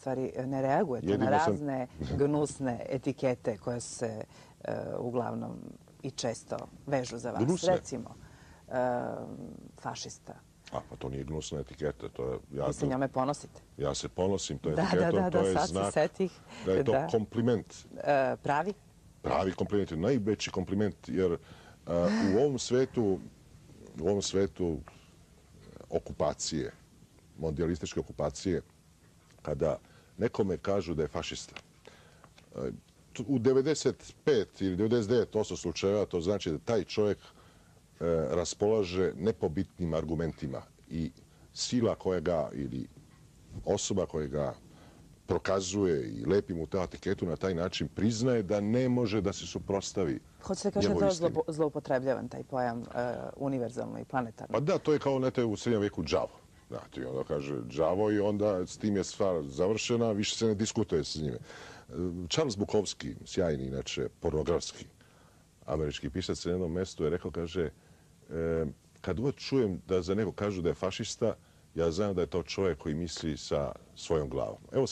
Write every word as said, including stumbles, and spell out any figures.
stvari ne reagujete Jedino na sam- razne gnusne etikete koje se e, uglavnom i često vežu za vas. Gnusne? Recimo, e, fašista. A, pa to nije gnusna etiketa. To je, ja, Vi se njome ponosite. ja se ponosim tom Da, etiketom, da, da, to da, je sad se znak setih. da je to Da. kompliment. E, pravi? Pravi kompliment, najveći kompliment, jer uh, u ovom svetu, u ovom svetu okupacije, mondijalističke okupacije, kada nekome kažu da je fašista, uh, u devedeset pet ili devedeset devet posto slučajeva to znači da taj čovjek uh, raspolaže nepobitnim argumentima i sila koja ga ili osoba koja ga prokazuje i lepi mu tu etiketu na taj način priznaje da ne može da se suprotstavi. Hoćete kažete da njegovoj je istini. zlo, zloupotrebljavan taj pojam e, univerzalno i planetarno? Pa da, to je kao nete u srednjem veku đavo. Znate, i onda kaže đavo i onda s tim je stvar završena, više se ne diskutuje s njime. Charles Bukowski, sjajni, inače, pornografski američki pisac, na jednom mjestu je rekao, kaže, e, kad god čujem da za nekog kažu da je fašista, ja znam da je to čovjek koji misli sa svojom glavom. Evo